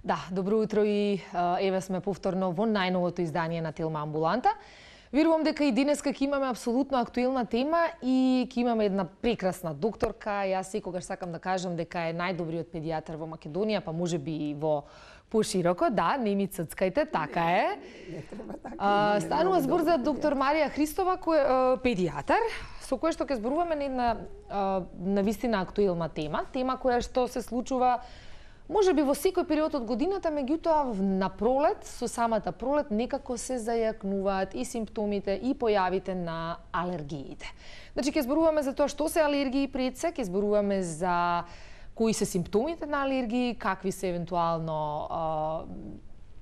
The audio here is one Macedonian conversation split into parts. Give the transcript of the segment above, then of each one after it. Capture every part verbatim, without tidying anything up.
Да, добро утро и еве сме повторно во најновото издание на Телма Амбуланта. Верувам дека и денеска ќе имаме апсолутно актуелна тема и ќе имаме една прекрасна докторка. Јас секогаш сакам да кажам дека е најдобриот педијатар во Македонија, па можеби и во пошироко. Да, не ми ццкајте, така е. Не треба така. А, станува збор за доктор Марија Христова, кој педијатар, со која што ќе зборуваме на една на вистина актуелна тема, тема која што се случува може би во секој период од годината, меѓутоа на пролет, со самата пролет, некако се зајакнуваат и симптомите и појавите на алергиите. Значи, ќе зборуваме за тоа што се алергии пред се, ќе зборуваме за кои се симптомите на алергии, какви се евентуално а,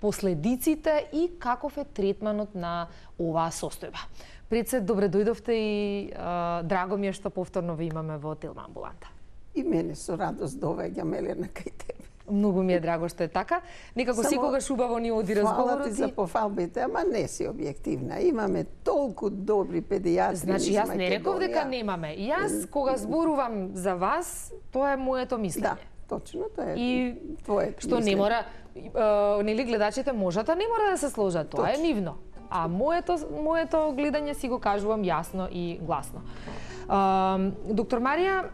последиците и каков е третманот на оваа состојба. Пред се, добре дојдовте и а, драго ми е што повторно ве имаме во Телма Амбуланта. И мене со радост доаѓам, Елена, кај тебе. Многу ми е драго што е така. Некако Само секогаш убаво ни оди разговорот. Фала ти за пофалбите, ама не си објективна. Имаме толку добри педијатри. Значи, јас не реков дека немаме. Јас, кога зборувам за вас, тоа е моето мислење. Да, точно, тоа е и твоето што мислење. не мора, е, нели гледачите можата не мора да се сложат, тоа е нивно. А моето, моето гледање си го кажувам јасно и гласно. Е, доктор Марија,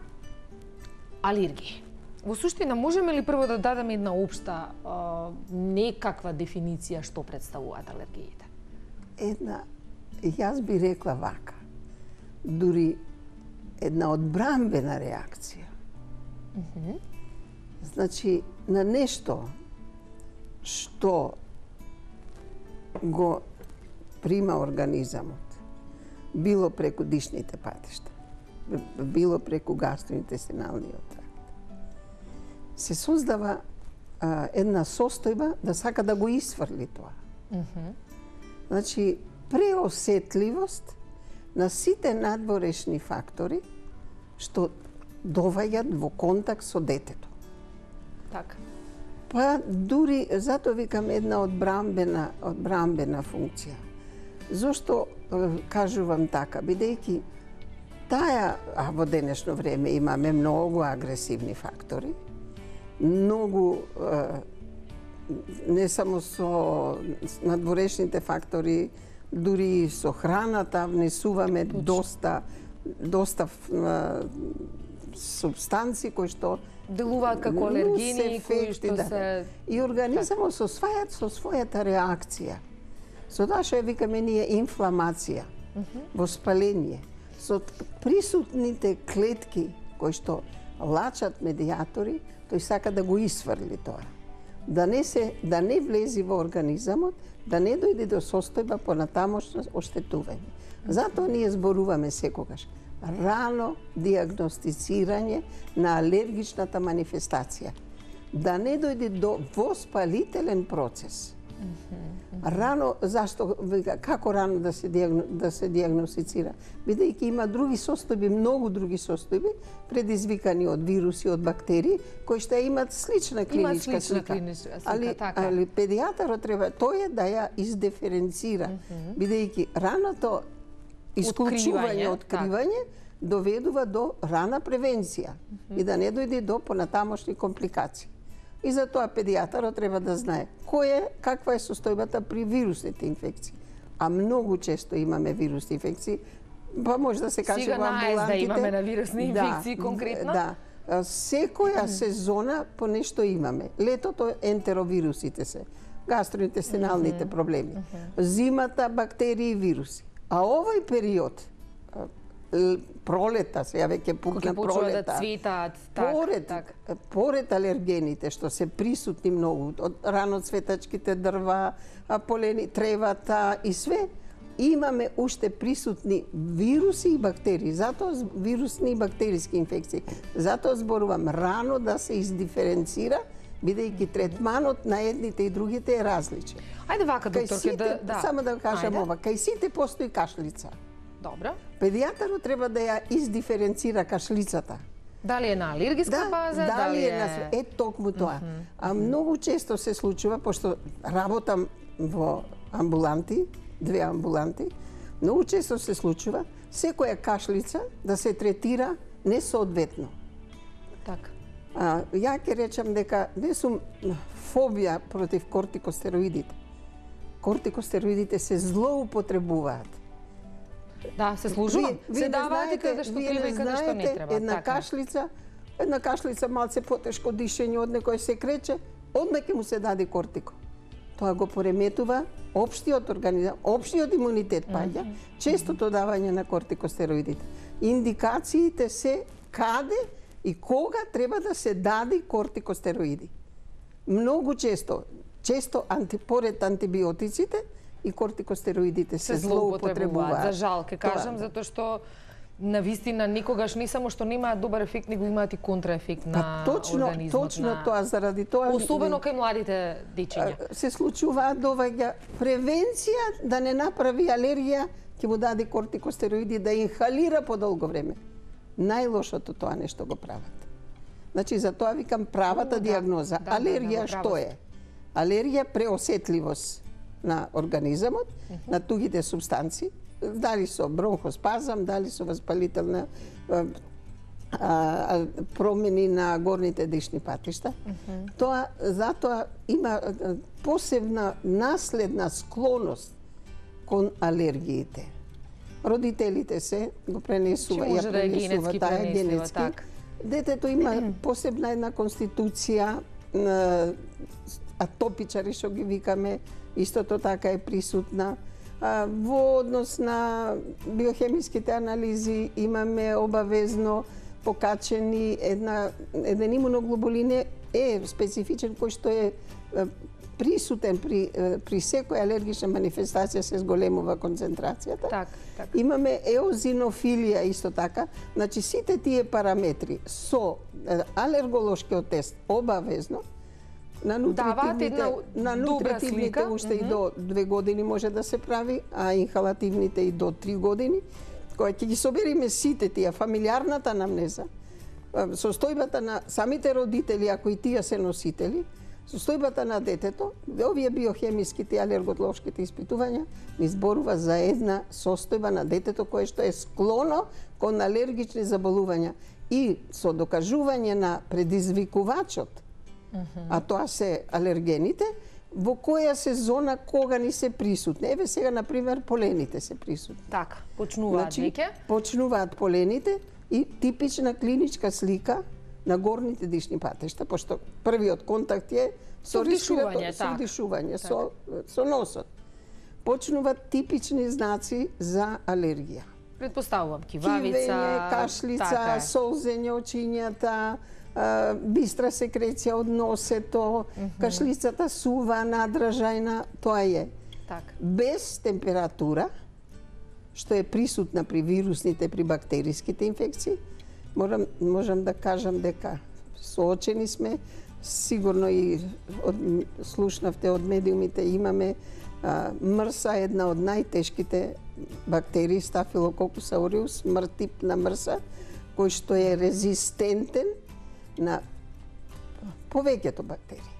алергии. Во суштина, можеме ли прво да дадеме една општа а, некаква дефиниција што представуваат алергиите? Една, јас би рекла вака, дури една одбранбена реакција. Mm -hmm. Значи, на нешто што го прима организамот, било преку дишните патишта, било преку гастроинтестиналниот тракт, се создава а, една состојба да сака да го исфрли тоа. Mm -hmm. Значи, преосетливост на сите надворешни фактори што доваѓаат во контакт со детето. Така. Па дури, затоа викам една одбранбена, одбранбена функција. Зошто кажувам така? Бидејќи таа, а во денешно време имаме многу агресивни фактори, многу не само со надворешните фактори, дури со храната внесуваме Точно. доста доста субстанции кои што делуваат како алергени, кои што да. се и организамот со својата со својата реакција. Со тоа што викаме ние инфламација, mm -hmm. воспаление, со присутните клетки кои што лачат медијатори, тој сака да го исфрли тоа. Да не се да не влези во организамот, да не дојде до состојба понатамошно оштетување. Затоа ние зборуваме секогаш рано дијагностицирање на алергичната манифестација. Да не дојде до воспалителен процес. Рано, зашто, како рано да се, диагно, да се диагностицира? Бидејќи има други состојби, многу други состојби, предизвикани од вируси, од бактерии, кои што имаат слична клиничка слична слика. клиничка слика, али, така. али педијатарот треба тој е да ја издиференцира, mm -hmm. бидејќи раното исклучување, откривање, доведува до рана превенција mm -hmm. и да не дојде до понатамошни компликации. И затоа педијатарот треба да знае кој е, каква е состојбата при вирусните инфекции. А многу често имаме вирусни инфекции, па може да се каже Сега во амбулантите. да имаме на вирусни инфекции да, конкретно? Да. Секоја сезона по нешто имаме. Летото ентеровирусите се, гастроинтестиналните mm -hmm. проблеми. Mm -hmm. Зимата бактерии и вируси. А овој период, пролета, сега веќе пукна пролета, да цветаат, так, поред, так. поред алергените што се присутни многу, од раноцветачките дрва, полени, тревата и све, имаме уште присутни вируси и бактерии, затоа вирусни и бактериски инфекции. Затоа зборувам рано да се издиференцира, бидејќи третманот на едните и другите е различен. Ајде вака, докторке, да, да. Само да кажам Ајде. ова, кај сите постои кашлица. Добро. Педијатарот треба да ја издиференцира кашлицата. Дали е на алергиска да, база, дали, дали е на е токму тоа. Mm -hmm. А многу често се случува, пошто работам во амбуланти, две амбуланти, многу често се случува секоја кашлица да се третира несоодветно. Така. А, ја ќе речам дека не сум фобија против кортикостероидите. Кортикостероидите се злоупотребуваат. Да, се служува. Се даваат и каде што треба и каде што не треба. Една кашлица, една кашлица малце потешко дишење од некој се крече, одма ќе му се даде кортико. Тоа го пореметува општиот организам, општиот имунитет паѓа, честото давање на кортикостероидите. Индикациите се каде и кога треба да се даде кортикостероиди. Многу често, често анти, поред антибиотиците и кортикостероидите се, се злоупотребуваат. За жал, ке кажам, Тоа, затоа што на вистина никогаш не само што немаат добар ефект, него имаат и контраефект на па, точно, организмот. Точно на... тоа, заради тоа... Особено кај младите дечиња. Се случуваат доваѓа превенција да не направи алергија, ќе му даде кортикостероиди да инхалира по долго време. Најлошото тоа нешто го прават. Значи, за тоа викам правата да, диагноза. да, алергија да, да, што е? Алергија преосетливост на организамот, uh -huh. на тугите субстанции, дали со бронхоспазам, дали со воспалителна а, а, промени на горните дишни патишта. Uh -huh. Тоа затоа има посебна наследна склоност кон алергиите. Родителите се го пренесува, ја да пренесува таа пренесува, генетски. так. Детето има посебна една конституција, атопичари што ги викаме, истото така е присутна. Во однос на биохемиските анализи имаме обавезно покачени една, еден имуноглобулин е специфичен кој што е присутен при, при секоја алергична манифестација, се зголемува концентрацијата. Так, так. Имаме еозинофилија исто така. Значи сите тие параметри со алерголошкиот тест обавезно на нутритивните, на нутритивните уште и до две години може да се прави, а инхалативните и до три години. Кога ќе ги собериме сите тие, фамилиарната анамнеза, состојбата на самите родители, ако и тие се носители, состојбата на детето, овие биохемиските и алерголошките испитувања ни зборува за една состојба на детето кое што е склоно кон алергични заболувања и со докажување на предизвикувачот, uh-huh. а тоа се алергените, во која сезона кога ни се присутни. Еве сега, например, полените се присутни. Така, почнуваат значи, веќе? Почнуваат полените и типична клиничка слика на горните дишни патишта, пошто првиот контакт е со вдишување, со вдишување, со, со носот. Почнуваат типични знаци за алергија. Предпоставувам, кивавица, кивење, кашлица, така солзење очињата, а, бистра секреција од носето, mm -hmm. кашлицата сува, надражајна, тоа е. Так. Без температура, што е присутна при вирусните, при бактериските инфекции, Морам, можам да кажам дека соочени сме, сигурно и од, слушнавте од медиумите, имаме а, мрса, една од најтешките бактерии, Staphylococcus aureus, мр тип на мрса, кој што е резистентен на повеќето бактерии.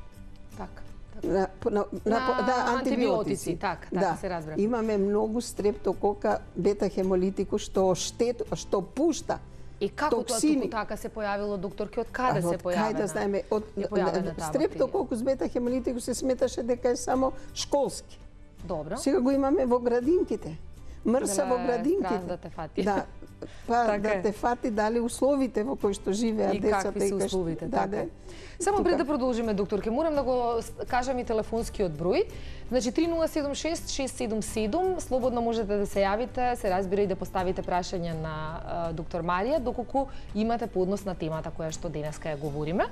Така. На, на, на, на да, антибиотици, така, така да. се разбира. Имаме многу стрептокока бета-хемолитику што штет, што пушта И како токсини. тоа туку така се појавило, докторке, од каде а, се појавена? Кај да знаеме, од стрептококус бета-хемолитику се сметаше дека е само школски. Добро. Сега го имаме во градинките. Мрса во градинките. Да те фати. Да. Па така да е. те фати дали условите во кои што живеат и децата какви се условите, да, така. да. Само Тука. пред да продолжиме, докторке, морам да го кажам и телефонскиот број. Значи три нула седум шест шест седум седум, слободно можете да се јавите, се разбира и да поставите прашања на а, доктор Марија, доколку имате поднос на темата која што денеска ја говориме.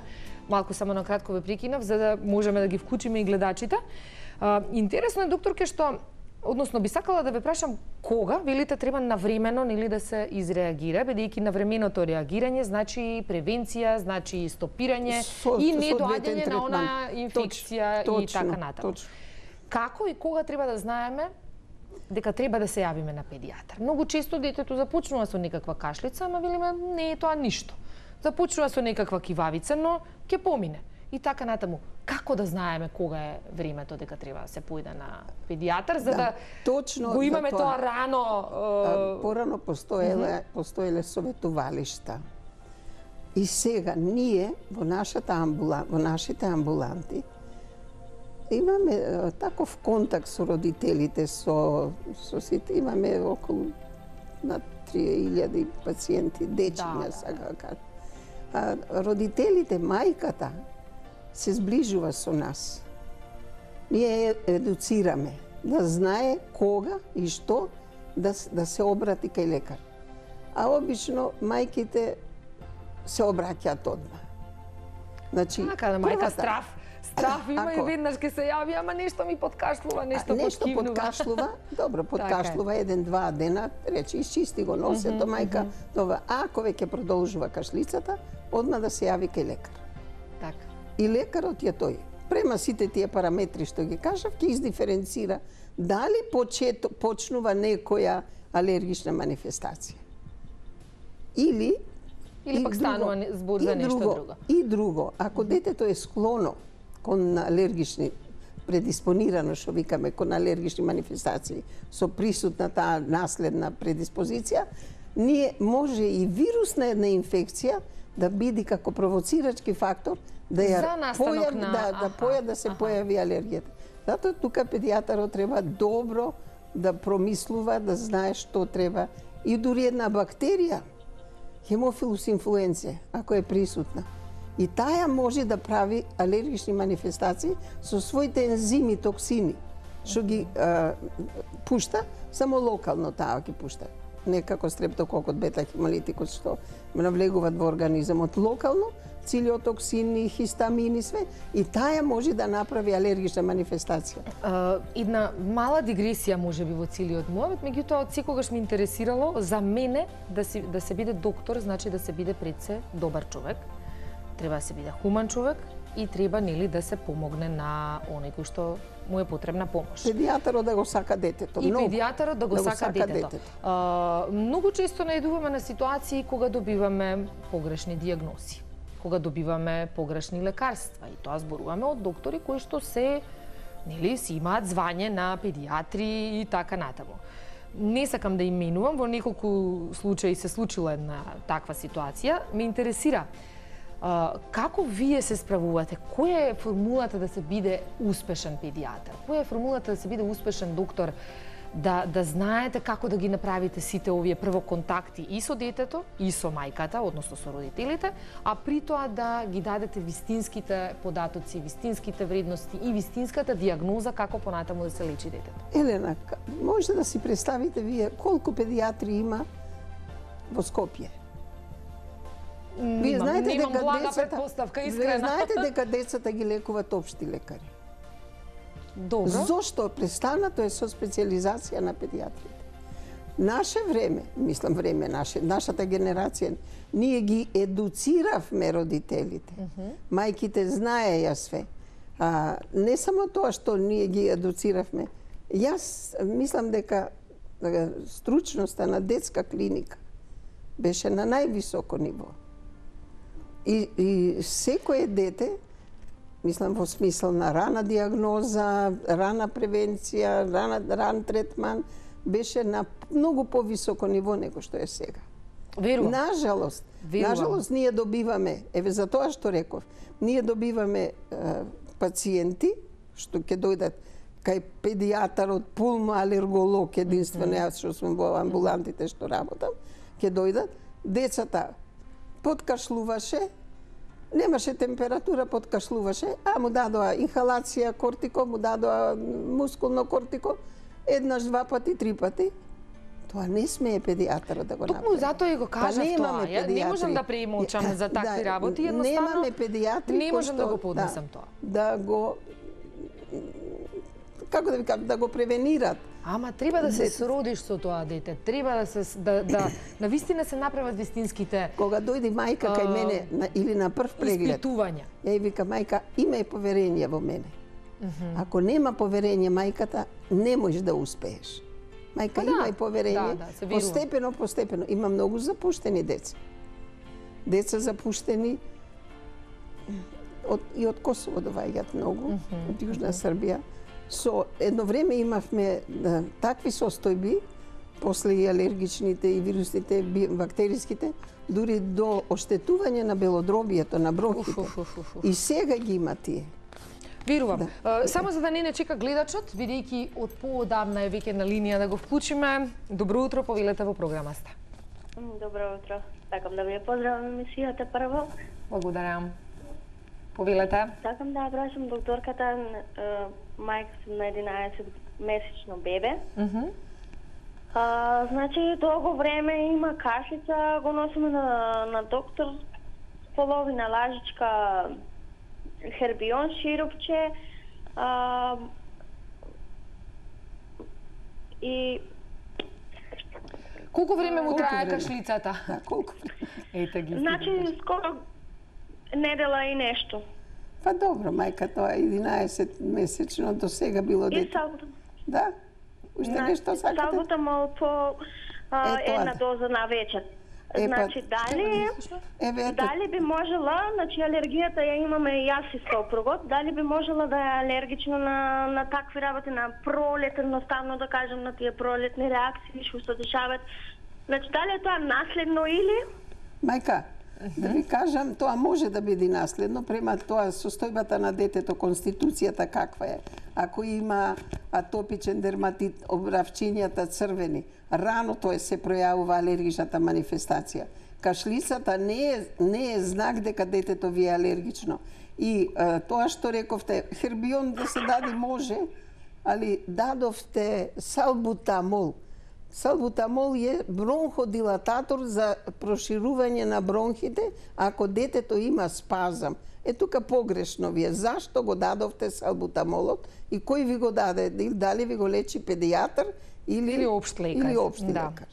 Малку само на кратко ве прекинав за да можеме да ги вклучиме и гледачите. А, интересно е, докторке, што Односно, би сакала да ве прашам кога, велите, треба навремено нели да се изреагира, бидејќи навременото реагирање значи превенција, значи стопирање со, и со недоаѓање на онаа инфекција точно, и така натаму. Точно. Како и кога треба да знаеме дека треба да се јавиме на педијатар? Многу често детето започнува со некаква кашлица, ама велиме не е тоа ништо. Започнува со некаква кивавица, но ќе помине. И така натаму. Како да знаеме кога е времето дека треба да се појде на педијатар за да, да точно го имаме тоа, тоа рано? Е... Порано постоеле, uh -huh. постоеле советувалишта. И сега ние во нашата амбула, во нашите амбуланти имаме таков контакт со родителите, со со сите, имаме околу на три илјади пациенти, дечиња, да, сака да. А, родителите, мајката се сближува со нас. Ние едуцираме да знае кога и што да, да се обрати кај лекар. А обично мајките се обраќаат одма. Значи, така да мајка страв, страв има и веднаш ќе се јави, ама нешто ми подкашлува, нешто подкивнува. Нешто подкашлува, добро, подкашлува еден-два дена, рече, изчисти го носето, мајка, това. А ако веќе продолжува кашлицата, одма да се јави кај лекар. Така. И лекарот ја тој, према сите тие параметри што ги кажав, ќе издиференцира дали почето, почнува некоја алергична манифестација. Или Или пак станува збор за нешто друго. И друго, ако детето е склоно кон алергични, предиспонирано, што викаме, кон алергични манифестации, со присутна таа наследна предиспозиција, ние може и вирусна една инфекција да биде како провоцирачки фактор да ја појави, на... да, да, поја, да се аха. појави алергијата. Затоа тука педијатарот треба добро да промислува, да знае што треба. И дури една бактерија, Хемофилус инфлуенце, ако е присутна, и таја може да прави алергични манифестации со своите ензими, токсини, што ги а, пушта, само локално таа ги пушта. Не како стрептококот, бета-хемолитикот, што навлегуваат во организмот локално, цилиотоксини, хистамини, све, и таја може да направи алергична манифестација. Uh, една мала дигресија може би во целиот мојот, меѓутоа од секогаш ми интересирало за мене да, си, да се биде доктор, значи да се биде пред се добар човек, треба да се биде хуман човек и треба нели да се помогне на оној кој што му е потребна помош. Педијатарот да го сака детето. И много, педијатарот да го да сака, сака детето. детето. Uh, многу често најдуваме на ситуации кога добиваме погрешни дијагнози, кога добиваме погрешни лекарства, и тоа зборуваме од доктори кои што се, нели, си имаат звање на педијатри и така натаму. Не сакам да именувам, во неколку случаи се случила една таква ситуација. Ме интересира Uh, како вие се справувате? Која е формулата да се биде успешен педијатар? Која е формулата да се биде успешен доктор? Да, да знаете како да ги направите сите овие прво контакти и со детето, и со мајката, односно со родителите, а при тоа да ги дадете вистинските податоци, вистинските вредности и вистинската дијагноза како понатаму да се лечи детето. Елена, може да си представите вие колку педијатри има во Скопје? Вие знаете немам дека блага децата, предпоставка, искрена. Вие знаете дека децата ги лекуваат општи лекари. Добро. Зошто престанато е со специализација на педијатрите? Наше време, мислам време, наше, нашата генерација, ние ги едуциравме родителите. Uh -huh. Мајките знаеја све. А, не само тоа што ние ги едуциравме. Јас мислам дека стручноста на детска клиника беше на највисоко ниво. И, и секое дете, мислам во смисла на рана дијагноза, рана превенција, рана, ран третман, беше на многу повисоко ниво него што е сега. Верувам. Нажалост, Верувам. нажалост ние добиваме, еве за тоа што реков, ние добиваме е, пациенти што ќе дојдат кај педијатарот, пулмоалерголог, единствено јас што сум во амбулантите што работам, ќе дојдат, децата подкашлуваше, немаше температура, подкашлуваше, а му дадоа инхалација кортико, му дадоа мускулно кортико, еднаш, два пати, три пати. Тоа не смее педијатарот да го направи. Токму затоа и го кажав па тоа. Ја не можам да премолчам за такви да, работи, едноставно немаме педијатри не можам да го што, поднесам да, тоа. Да го како да ви кажам, да го превенират. Ама треба да се сродиш со тоа дете, треба да се да да на вистина се направат вистинските кога дојде мајка кај мене на, или на прв преглед. Испитувања. Ја и вика мајка, имај поверение во мене. Uh -huh. Ако нема поверение мајката, не можеш да успееш. Мајка, па да, имај поверение, да, да, постепено, постепено. Има многу запуштени деца. Деца запуштени од, и од Косово доаѓаат многу, uh -huh. од Јужна Србија. Со едно време имавме да, такви состојби после и алергичните и вирусните, бактериските, дури до оштетување на белодробието, на бронхите. Уф, уф, уф, уф. И сега ги има тие. Верувам. Да. Само за да не не чека гледачот, бидејќи од поодамна е веќе на линија да го вклучиме. Добро утро, повелете во програмата. Добро утро. Сакам да ви ја поздравам емисијата прво. Благодарам. Повелете. Сакам да прашам докторката, мајка сум на единаесет месечно бебе. Uh -huh. А, значи, долго време има кашлица, го носиме на, на доктор, половина лажичка хербион ширупче, а, и... Колку време му Колку трае време? кашлицата? Да, колку? Ете ги. Значи, скоро недела и нешто. Па добро, мајка, тоа е единаесет месечно, до сега било И дете. салбутамол. Да? Уште нешто сакате? Салбутамол по а, Е, тоа една да. доза на вечер. Е, па, Значи, дали... Еве, ето, Дали би можела, значи алергијата ја имаме и јас и сопругот, дали би можела да е алергично на, на такви работи, на пролет, едноставно да кажем, на тие пролетни реакции, што се дешаваат. Значи, дали е тоа наследно или? мајка, да ви кажам, тоа може да биде наследно, према тоа состојбата на детето, конституцијата каква е. Ако има атопичен дерматит, обравчињата црвени, рано тоа се пројавува алергичната манифестација. Кашлицата не е, не е знак дека детето ви е алергично. И е, тоа што рековте, хербион да се даде може, али дадовте салбутамол. Салбутамол е бронходилататор за проширување на бронхите ако детето има спазам. Е тука погрешно ви е. Зашто го дадовте салбутамолот и кој ви го даде? Дали ви го лечи педијатар или Или општ лекар. Или општ Да. лекар.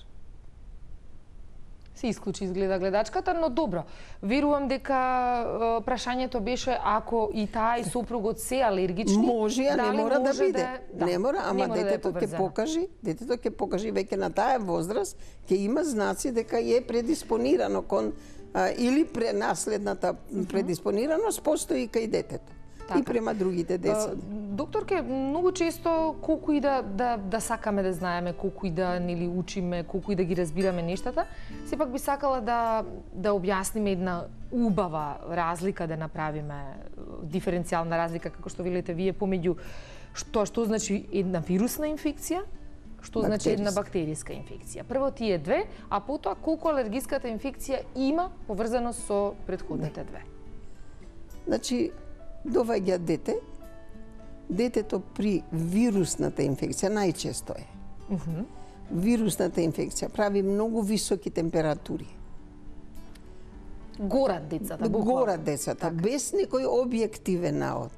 Се исклучи изгледа гледачката, но добро. Верувам дека е, прашањето беше ако и таа и сопругот се алергични. Може, а не дали мора да може биде. да, Не мора, ама не мора да е детето ќе поврзано. покажи, детето ќе покажи веќе на таа возраст, ќе има знаци дека е предиспонирано кон а, или пренаследната предиспонираност постои кај детето. Така. И према другите деца. Докторке, многу често колку и да да да сакаме да знаеме, колку и да нели учиме, колку и да ги разбираме нештата, сепак би сакала да да објасниме една убава разлика, да направиме диференцијална разлика како што велите вие помеѓу што што значи една вирусна инфекција, што значи една бактериска инфекција. Прво тие две, а потоа колку алергиската инфекција има поврзано со претходните две. Значи, доваѓа дете, детето при вирусната инфекција најчесто е. Uh -huh. Вирусната инфекција прави многу високи температури. Горат децата, буквално. Горат децата, без некој објективен наод.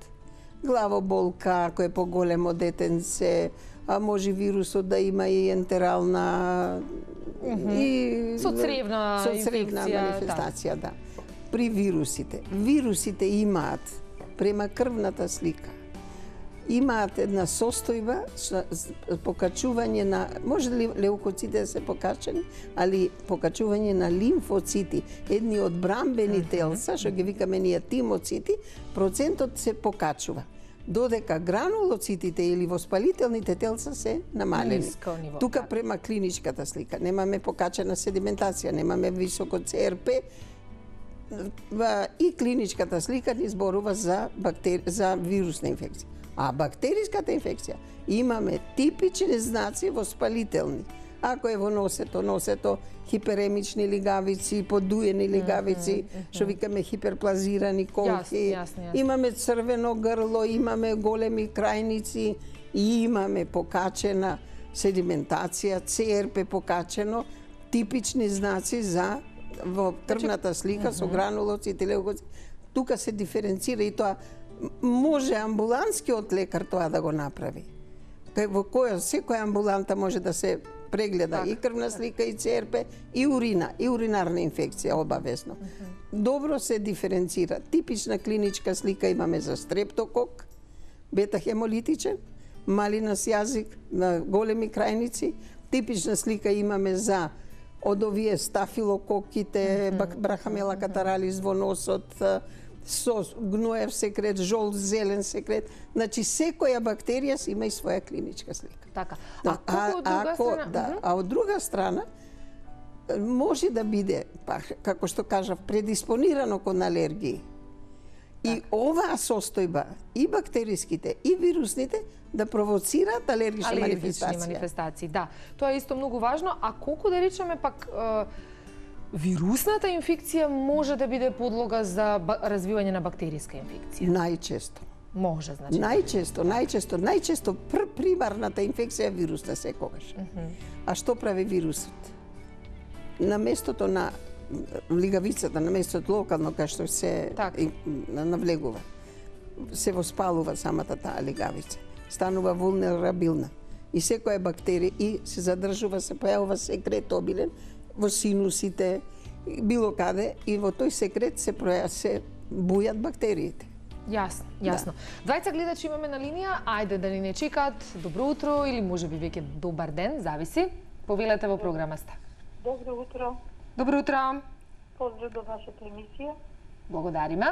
Главоболка, ако е поголемо детенце, а може вирусот да има и ентерална Mm -hmm. и со цревна со цревна инфекција, манифестација, да. При вирусите, вирусите имаат према крвната слика. Имаат една состојба, покачување на, може ли леукоците да се покачени, али покачување на лимфоцити, едни од брамбени телца, што ги викаме ние тимоцити, процентот се покачува. Додека гранулоцитите или воспалителните телца се намалени. Тука према клиничката слика, немаме покачена седиментација, немаме високо Це Ер Пе, и клиничката слика ни зборува за бактери... за вирусна инфекција. А бактериската инфекција имаме типични знаци воспалителни. Ако е во носето, носето хиперемични лигавици, подуени лигавици, што викаме хиперплазирани колки. Јасно, јасно, јасно. Имаме црвено грло, имаме големи крајници и имаме покачена седиментација, Це Ер Пе покачено, типични знаци за во крвната слика со гранулоцити, леукоцити. Тука се диференцира и тоа може амбулантскиот лекар тоа да го направи. Во која секоја амбуланта може да се прегледа так, и крвна слика, и Це Ер Пе, и урина, и уринарна инфекција обавезно. Uh -huh. Добро се диференцира. Типична клиничка слика имаме за стрептокок, бета-хемолитичен, малинас јазик на големи крајници. Типична слика имаме за од овие стафилококите, mm -hmm. брахамела катаралис во носот, со гноев секрет, жол, зелен секрет. Значи секоја бактерија си има и своја клиничка слика. Така. Да, а, од друга ако, страна... да, а од друга страна може да биде, па, како што кажав, предиспонирано кон алергии. И оваа состојба, и бактериските, и вирусните, да провоцираат алергични, алергични манифестации. манифестации. Да, тоа е исто многу важно. А колку да речеме пак е, вирусната инфекција може да биде подлога за развивање на бактериска инфекција? Најчесто. Може, значи. Најчесто, најчесто, најчесто пр примарната инфекција е вирусна секогаш. Mm -hmm. А што прави вирусот? На местото на лигавицата, на местото локално кај што се и, навлегува, се воспалува самата таа лигавица. Станува вулнерабилна. И секоја бактерија и се задржува, се појавува секрет обилен во синусите, било каде, и во тој секрет се проја, се бујат бактериите. Јасно, јасно. Да. Двајца гледачи имаме на линија, ајде да ни не чекаат. Добро утро или можеби веќе добар ден, зависи. Повелете во програма сте. Добро утро. Добро утро. Поздрав до вашата емисија. Благодариме.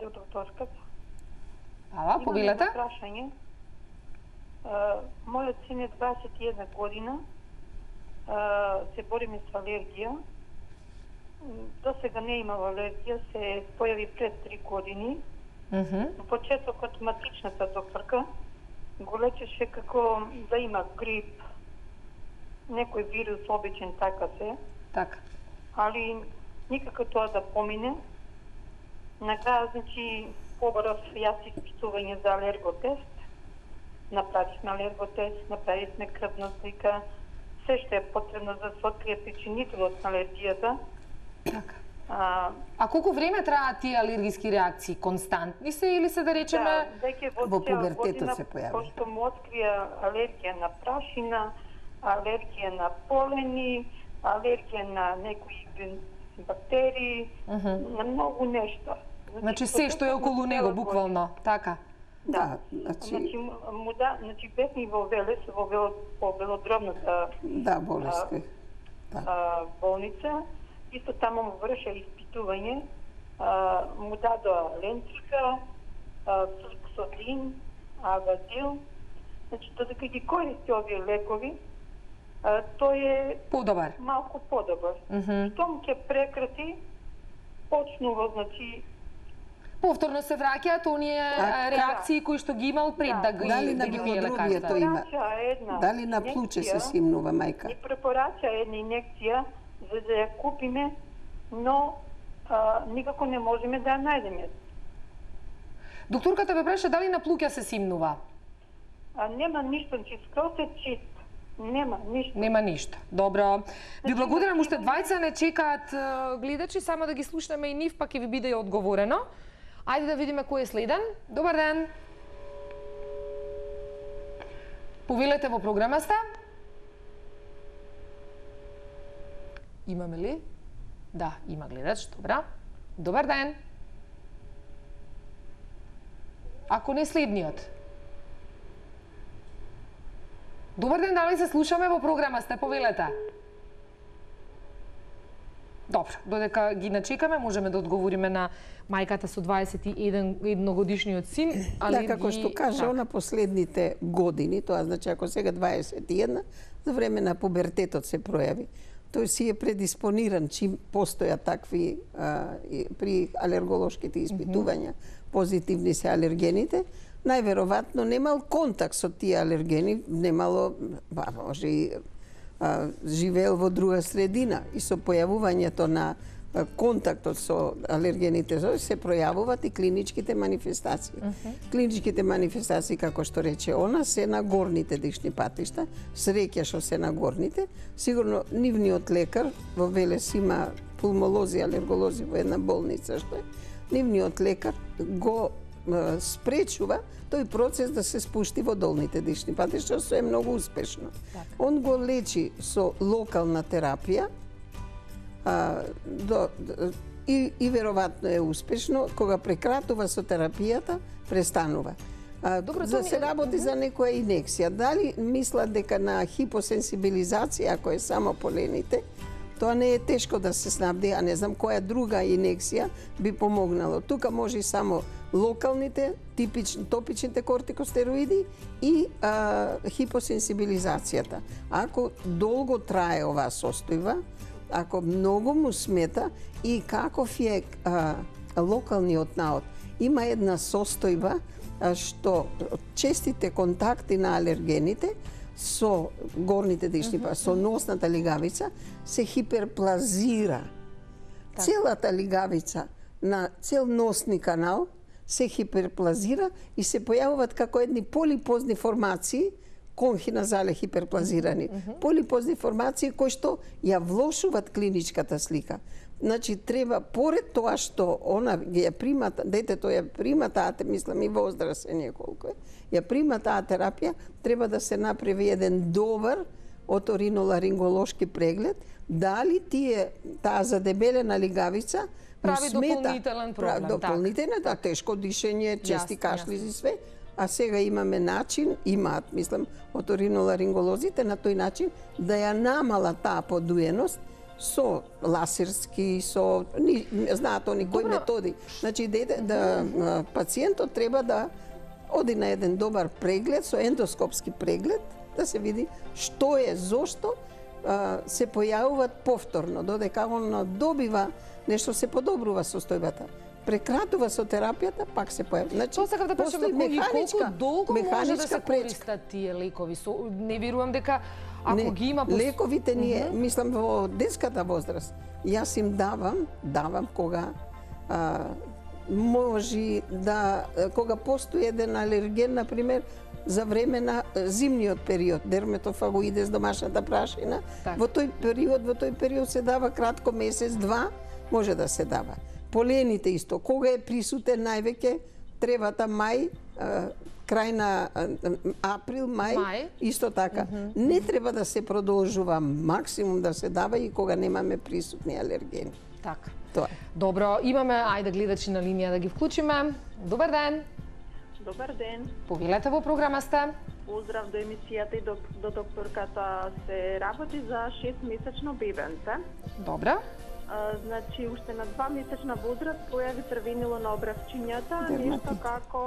До докторската. Ала, повелете. Имам прашање. Мојот син е дваесет и една година. Се бориме со алергија. До сега не имал алергија, се појави пред три години. Mm -hmm. На почетокот матичната докторка го лечеше како да има грип, некој вирус обичен, така се. Така. Али никако тоа да помине. На крај, значи, побарав јас испитување за алерготест. Направивме алерготест, направивме крвна слика, се што е потребно за да се открие причинителот на алергијата. Така. А, а колку време траат тие алергиски реакции? Константни се или се да речеме да, веќе во, во пубертетот се појави? Пошто му открија алергија на прашина, алергија на полени, алергија на некои бактерии, uh -huh. на многу нешта. Значи, значи се што е околу него, буквално, така? Да, значи, значи, му да, значи бевме во Велес, во вело, по велодромната да, болеска. Да. А, болница. Исто таму му врша испитување, а, му дадоа ленцика, фликсодин, авадил. Значи, додека ги користи овие лекови, а, тој е подобар. Малку подобар. Mm -hmm. Штом ќе прекрати, почнува, значи, повторно се враќаат оние а, реакции да. кои што ги имал пред да, да ги дали да на ги било пие лекарства. има? Дали на плуче се симнува мајка? Ни препорача една инекција за да ја купиме, но а, никако не можеме да ја најдеме. Докторката ве праша дали на плуќа се симнува? А, нема ништо, значи скроз е чист. Нема ништо. Нема ништо. Добро. Ви благодарам, уште двајца не чекаат гледачи, само да ги слушнеме и нив, пак ќе ви биде и одговорено. Ајде да видиме кој е следен. Добар ден. Повелете во програма сте. Имаме ли? Да, има гледач, добра. Добар ден. Ако не следниот. Добар ден, дали се слушаме во програма сте, повелете. Добро, додека ги начекаме, можеме да одговориме на мајката со дваесет и еден годишниот син. Алергии... Да, како што каже, так. Она последните години, тоа значи ако сега дваесет и една, за време на пубертетот се пројави. Тој си е предиспониран, чим постојат такви а, при алерголошките испитувања, mm -hmm. позитивни се алергените, најверојатно немал контакт со тие алергени, немало, ба, може и а, живеел во друга средина и со појавувањето на а, контактот со алергените се пројавуваат и клиничките манифестации. Mm -hmm. Клиничките манифестации, како што рече она, се на горните дишни патишта, среќа што се на горните. Сигурно нивниот лекар, во Велес има пулмолози, алерголози во една болница што е, нивниот лекар го спречува тој процес да се спушти во долните дишни патишта, што е многу успешно. Так. Он го лечи со локална терапија а, до, и, и веројатно е успешно. Кога прекратува со терапијата, престанува. А, Добро, за се работи за некоја инекција. Дали мислат дека на хипосенсибилизација, ако е само полените, Тоа не е тешко да се снабди, а не знам која друга инекција би помогнало. Тука може и само локалните, типични, топичните кортикостероиди и а, хипосенсибилизацијата. Ако долго трае оваа состојба, ако многу му смета и каков е а, локалниот наод, има една состојба а, што честите контакти на алергените со горните дишни, mm -hmm. со носната лигавица се хиперплазира. Так. Целата лигавица на цел носни канал се хиперплазира и се појавуваат како едни полипозни формации, конхиназале хиперплазирани, mm -hmm. полипозни формации кои што ја влошуваат клиничката слика. Значи треба поред тоа што она ја прима, детето ја прима таа, мислам и возрастен колку е, ја прима таа терапија, треба да се направи еден добар оториноларинголошки преглед, дали тие таа задебелена лигавица прави дополнителен проблем. Дополнителен, да, тешко дишење, чести кашлизи и све. А сега имаме начин, имаат, мислам, оториноларинголозите на тој начин да ја намала таа подуеност со ласерски, со ни, знаат они кои методи. Значи дете, да пациентот треба да оди на еден добар преглед, со ендоскопски преглед, да се види што е, зошто а, се појавуваат повторно, додека он добива нешто, се подобрува состојбата. Прекратува со терапијата, пак се појавува. Значи, тоа сакав да прашам, колку долго може да се користат тие лекови? Со, не верувам дека ако не, ги има... Лековите ние, uh -huh. мислам, во детската возраст, јас им давам, давам кога а, може да, кога постои еден алерген, например, за време на зимниот период, дерметофагоидес, домашната прашина, так. Во тој период, во тој период се дава кратко месец, два, може да се дава. Полените исто, кога е присутен највеќе, требата мај, крај на април, мај, мај. Исто така. Mm -hmm. Не треба да се продолжува, максимум да се дава и кога немаме присутни алергени. Така. Тоа. Добро, имаме, ајде гледачи на линија да ги вклучиме. Добар ден. Добар ден. Повелете во програма сте. Поздрав до емисијата и до, до докторката. Се работи за шестмесечно бебенце. Добра. А, значи, уште на два месечна возраст појави црвенило на обравчињата, нешто како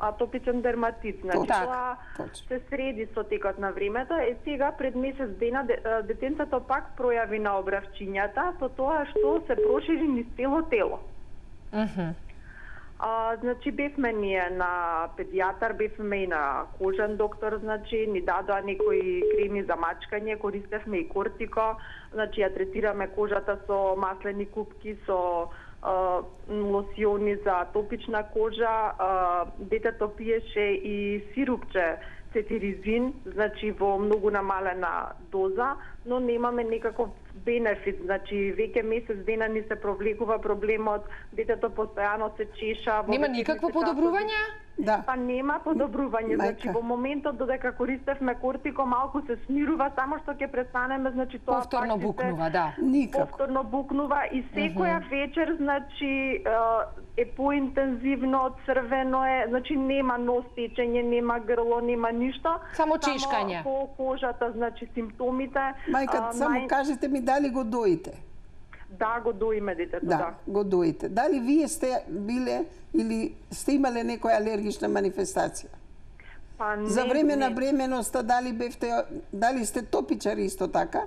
атопичен дерматит. Значи, так, тоа точно. се среди со текот на времето. Е, сега, пред месец дена, детенцето пак пројави на обравчињата, со тоа што се прошири низ цело тело. Uh -huh. А, значи, бевме ние на педијатар, бевме и на кожен доктор, значи, ни дадоа некои креми за мачкање, користевме и кортико, значи, ја третираме кожата со маслени купки, со а, лосиони за атопична кожа, а, детето пиеше и сирупче цетиризин, значи во многу намалена доза, но немаме некаков бенефит, значи веќе месец дена ни се провлекува проблемот, детето постојано се чеша. Нема никакво подобрување? Да. Па нема подобрување, значи во моментот додека користевме кортико малку се смирува, само што ќе престанеме, значи тоа повторно букнува, да. Никако. Повторно букнува и секоја uh -huh. вечер, значи е поинтензивно, црвено е, значи нема нос течење, нема грло, нема ништо. Само чешкање. Само по кожата, значи симптомите. Мајка, а, само мај... кажете ми дали го доите? Да, го доиме детето, да. да. го доите. Дали вие сте биле или сте имале некоја алергична манифестација? Па не, За време не. на бременоста дали бевте, дали сте топичари исто така?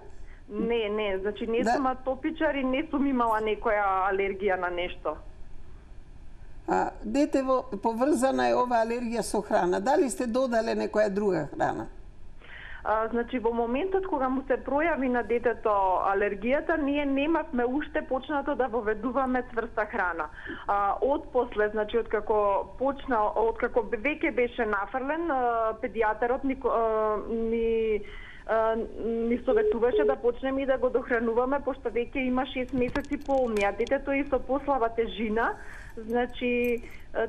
Не, не, значи не да. сум атопичар и не сум имала некоја алергија на нешто. А, детево, поврзана е ова алергија со храна. Дали сте додале некоја друга храна? А, значи, во моментот кога му се пројави на детето алергијата, ние немавме уште почнато да воведуваме цврста храна. А, од после, значи, од како почна, од како веќе беше нафрлен, а, педијатарот ни, а, ни ни советуваше да почнеме и да го дохрануваме, пошто веќе има шест месеци полни, а детето е со послаба тежина, значи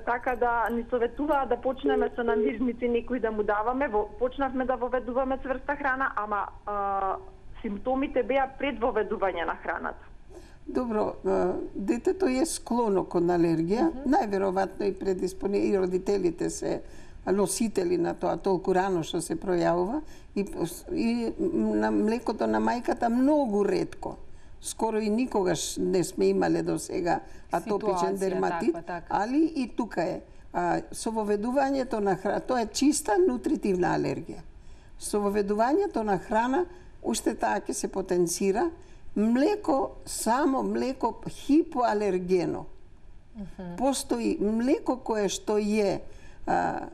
така да ни советуваа да почнеме со намирници некои да му даваме, почнавме да воведуваме цврста храна, ама а, симптомите беа пред воведување на храната. Добро, детето е склоно кон алергија, mm -hmm. најверојатно и предиспони и родителите се носители на тоа толку рано што се пројавува и, и на млекото на мајката многу ретко. скоро и никогаш не сме имале до сега атопичен Ситуација, дерматит, таква, така. али и тука е. А, со воведувањето на храна, тоа е чиста нутритивна алергија. Со воведувањето на храна, уште таа ќе се потенцира. Млеко, само млеко хипоалергено. Постои млеко кое што е а,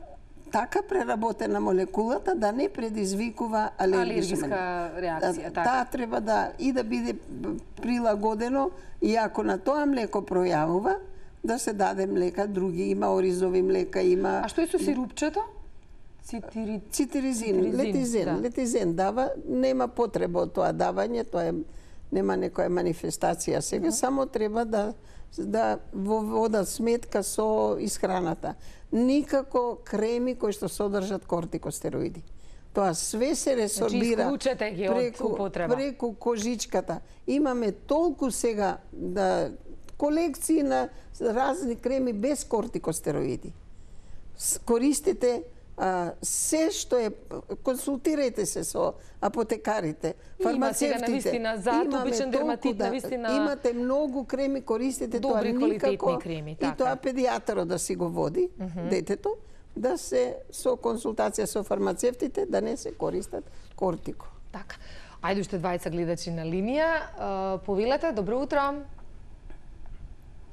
така преработена молекулата да не предизвикува алергична реакција. Така. Таа треба да и да биде прилагодено, и ако на тоа млеко пројавува, да се даде млека други, има оризови млека, има... А што е со сирупчето? Цитири... Цитиризин, Цитиризин, летизен, да. летизен дава, нема потреба од тоа давање, тоа е, нема некоја манифестација сега, Uh-huh. само треба да да во вода сметка со исхраната. Никако креми кои што содржат кортикостероиди. Тоа све се ресорбира исклучете ги од преку, употреба. преку кожичката. Имаме толку сега да колекции на разни креми без кортикостероиди. С- Користите а, се што е, консултирајте се со апотекарите, Има сега фармацевтите. навистина за Имаме атопичен толку дерматит, да- навистина Имате многу креми, користите тоа добри квалитетни никако. креми, И така. тоа педијатарот да си го води, детето, да се со консултација со фармацевтите да не се користат кортико. Така. Ајде уште двајца гледачи на линија. А, повелете, добро утро.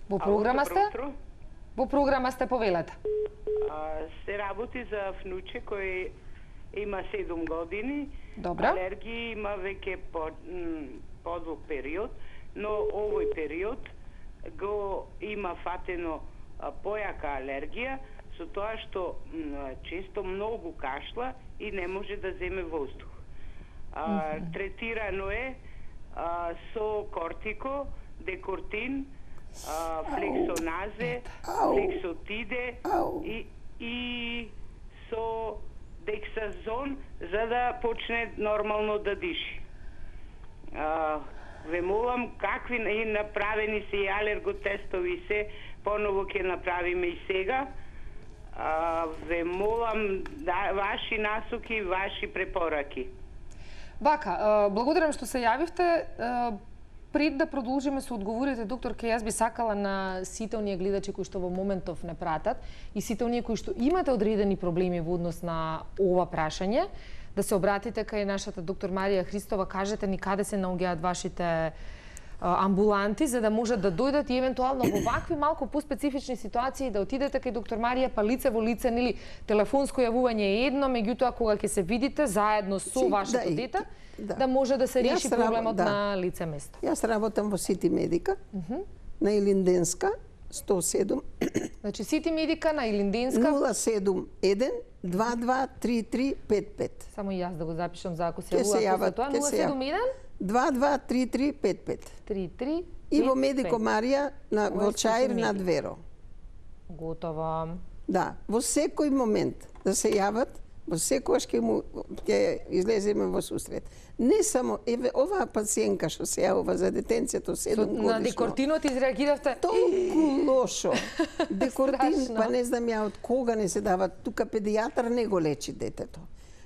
Во програма сте? Утро. Во програма сте, повелете. А, се работи за внуче кој има седум години. Добро. Алергија има веќе по, м, подолг период, но овој период го има фатено а, појака алергија со тоа што м, често многу кашла и не може да земе воздух. А, третирано е а, со кортико, декортин, а, флексоназе, Ау. флексотиде Ау. и, и со дексазон за да почне нормално да диши. А, ве молам какви и направени се и алерготестови се, поново ќе направиме и сега. А, ве молам да, ваши насоки, ваши препораки. Вака, а, благодарам што се јавивте. А, Пред да продолжиме со одговорите, доктор, ке јас би сакала на сите оние гледачи кои што во моментов не пратат и сите оние кои што имате одредени проблеми во однос на ова прашање, да се обратите кај нашата доктор Марија Христова, кажете ни каде се наоѓаат вашите а, амбуланти, за да можат да дојдат и евентуално во вакви малку поспецифични ситуации да отидете кај доктор Марија, па лице во лице, нели, телефонско јавување е едно, меѓутоа кога ќе се видите заедно со Си, вашето да, и- дете, да. да може да се Јас реши раб- проблемот да. на лице место. Јас работам во Сити Медика, на Илинденска, сто седум, Значи Сити Медика на Илинденска, нула седум еден два два три три пет пет. само и јас да го запишам за ако се Ќе се јавува јават, после тоа, ќе нула се седум еден два два три три пет пет. три три И во пет Медико пет. Марија на Ова е во Чаир Сити над Медика. Веро. Готово. Да, во секој момент да се јават, во секојаш ќе му ќе излеземе во сусрет. Не само еве оваа пациентка што се јавува за детенцето Со, седум годишно. на декортинот изреагиравте. Толку лошо. Декортин, Страшно. па не знам ја од кога не се дава. Тука педијатар не го лечи детето.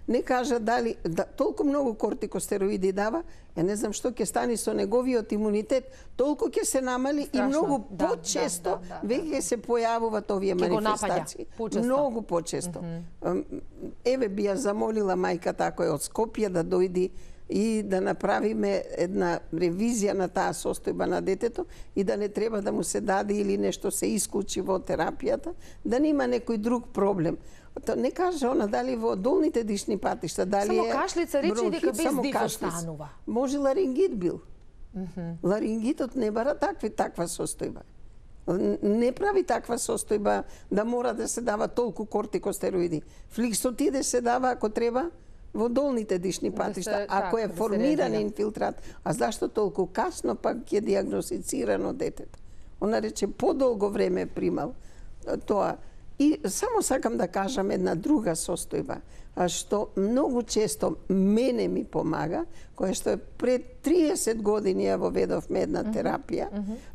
Не кажа дали да, толку многу кортикостероиди дава, ја не знам што ќе стане со неговиот имунитет, толку ќе се намали и Страшно. многу Да, почесто да, да, да, веќе се појавуваат овие Ќе го напаѓа манифестации. почесто. Многу почесто. Ам, Еве би ја замолила мајката ако е од Скопје да дојди и да направиме една ревизија на таа состојба на детето и да не треба да му се даде или нешто се исклучи во терапијата, да нема некој друг проблем. То не каже она дали во долните дишни патишта, дали Само е кашлица, речи бронхит, дека без само диф кашлица. останува. Може ларингит бил. Ларингитот не бара такви таква состојба. Н- Не прави таква состојба да мора да се дава толку кортикостероиди. Фликсотиде се дава ако треба во долните дишни Да патишта, се- ако така, е да се формиран реагира. инфилтрат. А зашто толку касно пак ќе диагностицирано детето? Она рече подолго време е примал а, тоа. И само сакам да кажам една друга состојба, а што многу често мене ми помага, која што е пред триесет години ја воведовме една терапија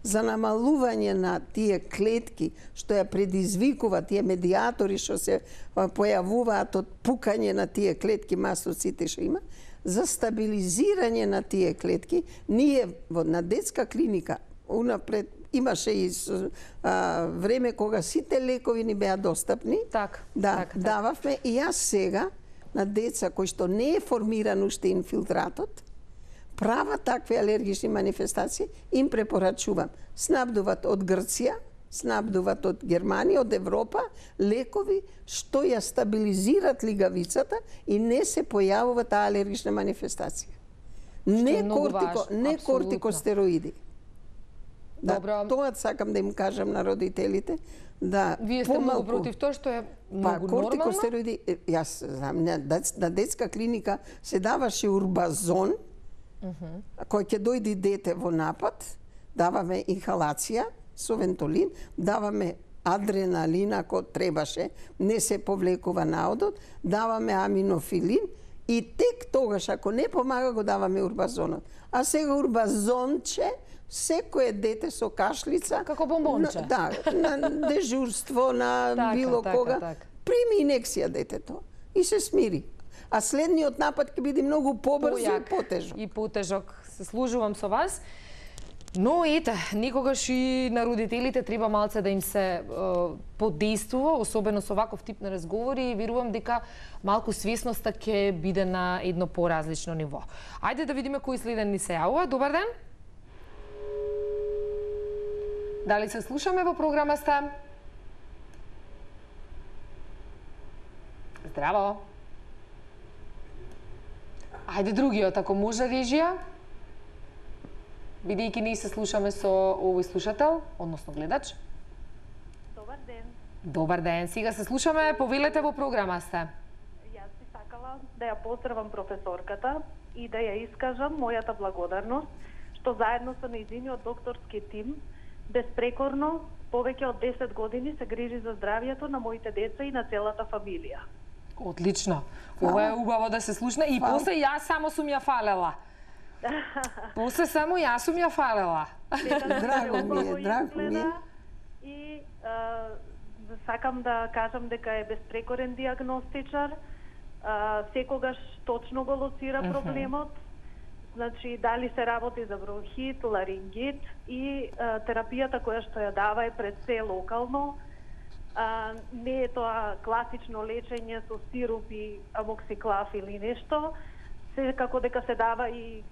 за намалување на тие клетки што ја предизвикува тие медиатори што се а, појавуваат од пукање на тие клетки мастоците што има, за стабилизирање на тие клетки. Ние во на детска клиника унапред имаше и а, време кога сите лекови ни беа достапни. Так, да, так, так. дававме и јас сега на деца кои што не е формиран уште инфилтратот, прават такви алергични манифестации, им препорачувам. Снабдуват од Грција, снабдуват од Германија, од Европа, лекови што ја стабилизират лигавицата и не се појавува таа алергична манифестација. Не, кортико, не кортикостероиди. Да, Добро. Тоа сакам да им кажам на родителите, да Вие сте помалку, многу против тоа што е па, многу кортикостероиди, јас знам, на, на детска клиника се даваше урбазон, uh -huh. кој ќе дојде дете во напад, даваме инхалација со вентолин, даваме адреналин ако требаше, не се повлекува наодот, даваме аминофилин и тек тогаш ако не помага го даваме урбазонот. А сега урбазонче секое дете со кашлица како бомбонче. На, да, на дежурство, на така, било така, кога, така. прими инекција детето и се смири. А следниот напад ќе биде многу побрзо и потежок. И потежок. Се служувам со вас. Но ете, никогаш и на родителите треба малце да им се е, подействува, особено со ваков тип на разговори, и верувам дека малку свесноста ќе биде на едно поразлично ниво. Ајде да видиме кој следен ни се јавува. Добар ден. Дали се слушаме во програма сте? Здраво. Ајде другиот, ако може, режија. Бидејќи ние се слушаме со овој слушател, односно гледач. Добар ден. Добар ден. Сега се слушаме, повелете во програма сте. Јас би сакала да ја поздравам професорката и да ја искажам мојата благодарност што заедно со нејзиниот докторски тим безпрекорно повеќе од десет години се грижи за здравјето на моите деца и на целата фамилија. Одлично. Ова е убаво да се слушне и после јас само сум ја фалела. После само јас сум ја фалела. Драго ми е, драго ми е. И а, сакам да кажам дека е безпрекорен диагностичар, а, секогаш точно го лоцира проблемот. Значи, дали се работи за бронхит, ларингит и а, терапијата која што ја дава е пред се локално. А, не е тоа класично лечење со сируп и амоксиклав или нешто, секако дека се дава и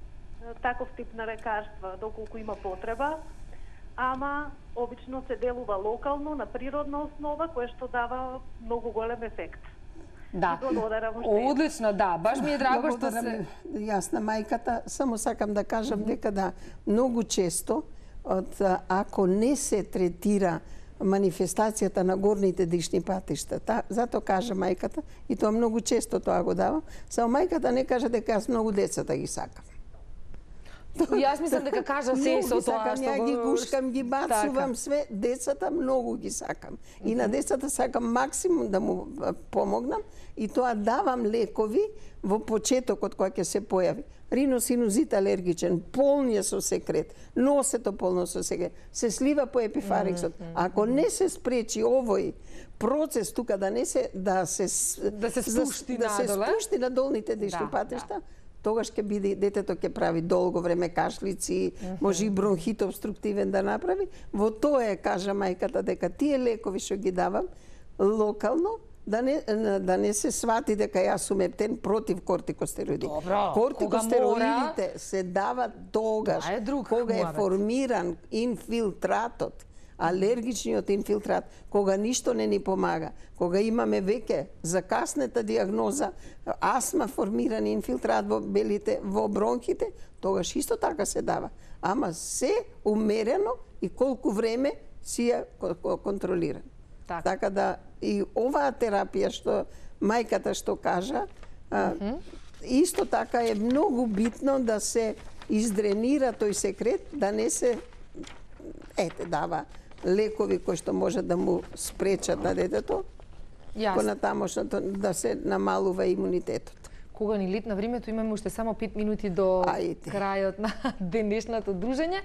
таков тип на лекарства доколку има потреба, ама обично се делува локално на природна основа која што дава многу голем ефект. Да. Благодарам уште. Одлично, да. Баш ми е драго што Благодарам се... Јас на мајката, само сакам да кажам дека да, многу често, од, ако не се третира манифестацијата на горните дишни патишта, та, зато кажа мајката, и тоа многу често тоа го давам, само мајката не кажа дека јас многу децата ги сакам. Јас мислам дека кажа се со тоа што ја го... ги гушкам, ги бацувам Така. све, децата многу ги сакам. И на децата сакам максимум да му помогнам и тоа давам лекови во почетокот кога ќе се појави. Риносинузит алергичен, полниот со секрет, носето полно со секрет, се слива по епифариксот. Ако не се спречи овој процес тука да не се да се Да се спушти да се надоле. спушти на долните дишни Да, патишта, тогаш ќе биде детето ќе прави долго време кашлици, mm -hmm. може и бронхит обструктивен да направи. Во тоа е кажа мајката дека тие лекови што ги давам локално да не да не се свати дека јас сум ептен против кортикостероиди. Добро, Кортикостероидите мора... се дават тогаш Тоа е друг кога е муабет. формиран инфилтратот, алергичниот инфилтрат, кога ништо не ни помага, кога имаме веќе закаснета диагноза, астма формиран инфилтрат во белите, во бронхите, тогаш исто така се дава. Ама се умерено и колку време си ја контролиран. Така. Така да и оваа терапија што мајката што кажа, а, mm -hmm. исто така е многу битно да се издренира тој секрет, да не се ете дава лекови кои што може да му спречат на детето, понатамошното да се намалува имунитетот. Кога ни летна времето, имаме уште само пет минути до Ајде. крајот на денешното дружење.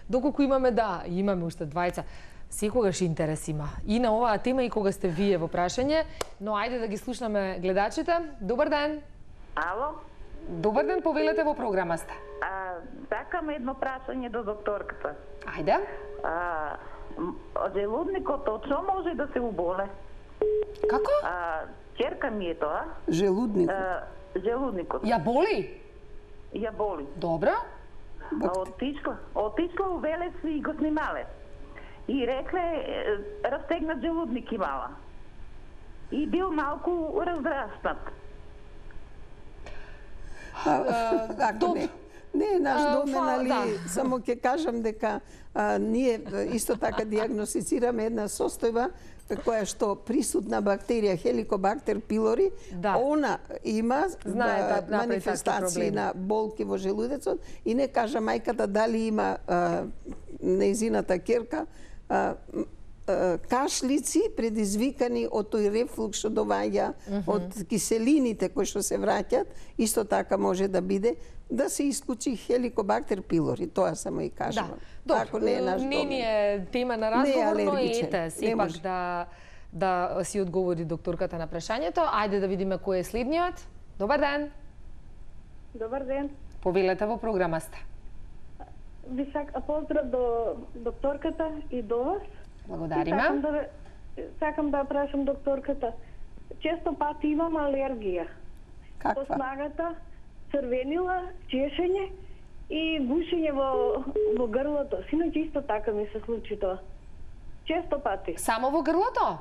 Доколку имаме, да, имаме уште двајца. Секогаш интерес има и на оваа тема и кога сте вие во прашање, но ајде да ги слушнаме гледачите. Добар ден. Ало? Добар ден, повелете, во програма сте. А, сакам едно прашање до докторката. Ајде. А, желудникот точно може да се уболе? Како? А, черка ми е тоа. Желудникот. А, желудникот. Ја боли? Ја боли. Добро. А, отишла, отишла у Велес и го снимале. И рекле, е, разтегнат желудник имала. И бил малку раздраснат. Ако не, не е наш А, домен, фала, али да. само ќе кажам дека а, ние исто така диагностицираме една состојба која што присутна бактерија Helicobacter pylori, Да. она има Знае да направи такви манифестации проблеми. на болки во желудецот и не кажа мајката дали има а, нејзината керка а, кашлици предизвикани од тој рефлукс што доаѓа mm -hmm. од киселините кои што се враќаат, исто така може да биде да се исклучи Helicobacter pylori, тоа само и кажам. Да. Ако не е наш не домен. ни е тема на разговор, но алергичен. ете, Не сепак може. да да си одговори докторката на прашањето. Ајде да видиме кој е следниот. Добар ден. Добар ден. Повелете, во програма сте. Ви сак... поздрав до докторката и до вас. Благодариме. Сакам да, сакам да прашам докторката. Често пати имам алергија. По Каква? снагата, црвенила, чешење и гушење во, во грлото. Синоќ исто така ми се случи тоа. Често пати. Само во грлото?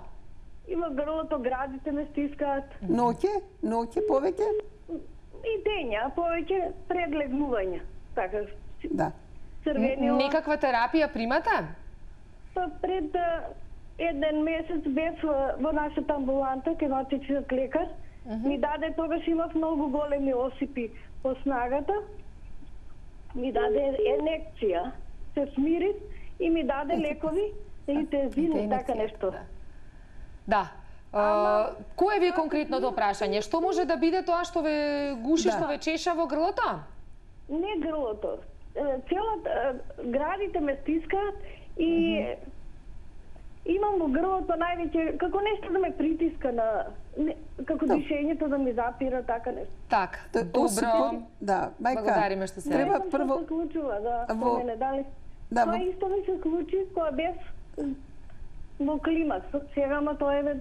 И во грлото градите ме стискаат. Ноќе? Ноќе повеќе? И дења, повеќе предлегнување. Така, Да. црвенила. Некаква терапија примате? Па пред а, еден месец бев а, во нашата амбуланта, кај матичниот лекар. Uh -huh. Ми даде, тогаш имав многу големи осипи по снагата. Ми даде енекција, се смири и ми даде лекови, интензивно, Интензивна, така нешто. да. Да. А, кое ви е конкретното прашање? Што може да биде тоа што ве гуши, Да. што ве чеша во грлото? Не грлото. Е, Целата, е, градите ме стискаат и имам во грлото највеќе, како нешто да ме притиска на, не, како дишењето да ми запира, така нешто. Так, Та, осипот, добро. да, мајка, Благодариме што се треба Не знам прво... што се случува, да, во- во мене, дали... Да, Тоа во- исто ми се случи кога бев во климакс. Сега, ма тоа е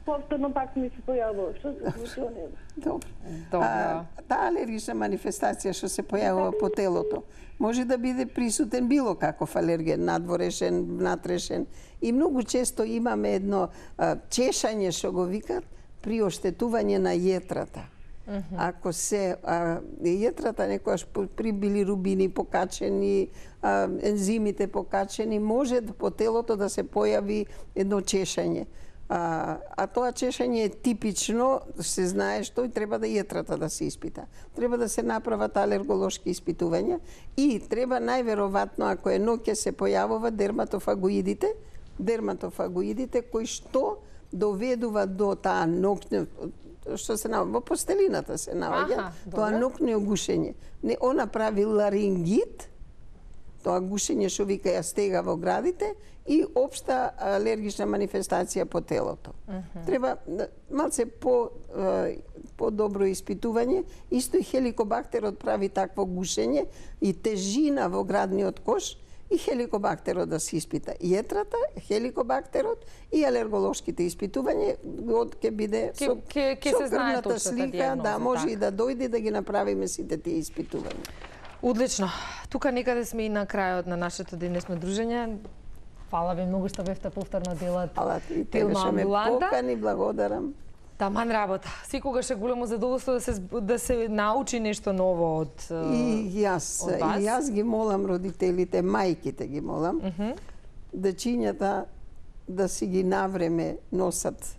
повторно пак ми се појавува. Што се случува, не знам. Добро. Добро. А, таа алергична манифестација што се појавува по телото може да биде присутен било каков алерген, надворешен, внатрешен. И многу често имаме едно а, чешање што го викат при оштетување на јетрата. Mm -hmm. Ако се а, јетрата некојаш при билирубини покачени, а, ензимите покачени, може по телото да се појави едно чешање. А, а тоа чешање е типично, се знае што и треба да јетрата да се испита. Треба да се направат алерголошки испитувања и треба најверојатно, ако е ноќе се појавува дерматофагоидите, дерматофагоидите кои што доведува до таа ноќна, што се наоѓа во постелината се наоѓа, Аха, тоа добро. ноќно гушење. Не, она прави ларингит, тоа гушење што вика ја стега во градите и општа алергична манифестација по телото. Uh -huh. Треба да, малце по е, по-добро испитување. Исто и хеликобактерот прави такво гушење и тежина во градниот кош и хеликобактерот да се испита. Јетрата, хеликобактерот и алерголошките испитувања од ќе биде Ке- со, ке- ке со се знае крвната точната слика, дијагноза, да може така. и да дојде да ги направиме сите тие испитувања. Одлично. Тука некаде сме и на крајот на нашето денешно дружење. Фала ви многу што бевте повторно делат Ала и Тилна тебе што ме амбуланта. покани, благодарам. Таман работа. Секогаш е големо задоволство да се зб- да се научи нешто ново од И јас, од вас. и јас ги молам родителите, мајките ги молам, mm -hmm. дечињата да си ги навреме носат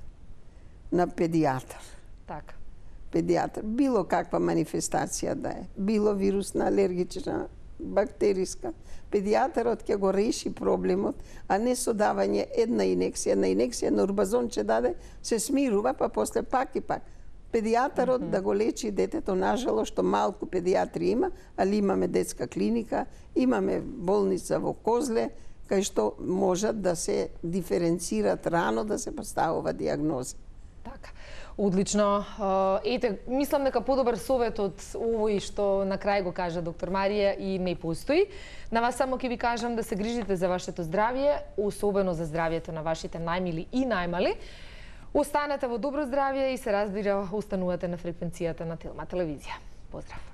на педијатар. Така. Педијатар, било каква манифестација да е, било вирусна, алергична, бактериска, педијатарот ќе го реши проблемот, а не со давање една инекција, една инекција на урбазонче даде, се смирува, па после пак и пак. Педијатарот mm -hmm. да го лечи детето, нажало, што малку педијатри има, али имаме детска клиника, имаме болница во Козле, кај што можат да се диференцират рано, да се поставува дијагноза. Така. Одлично. Ете, мислам дека подобар совет од овој што на крај го кажа доктор Марија и не постои. На вас само ќе ви кажам да се грижите за вашето здравје, особено за здравјето на вашите најмили и најмали. Останете во добро здравје и се разбира, останувате на фреквенцијата на Телма телевизија. Поздрав!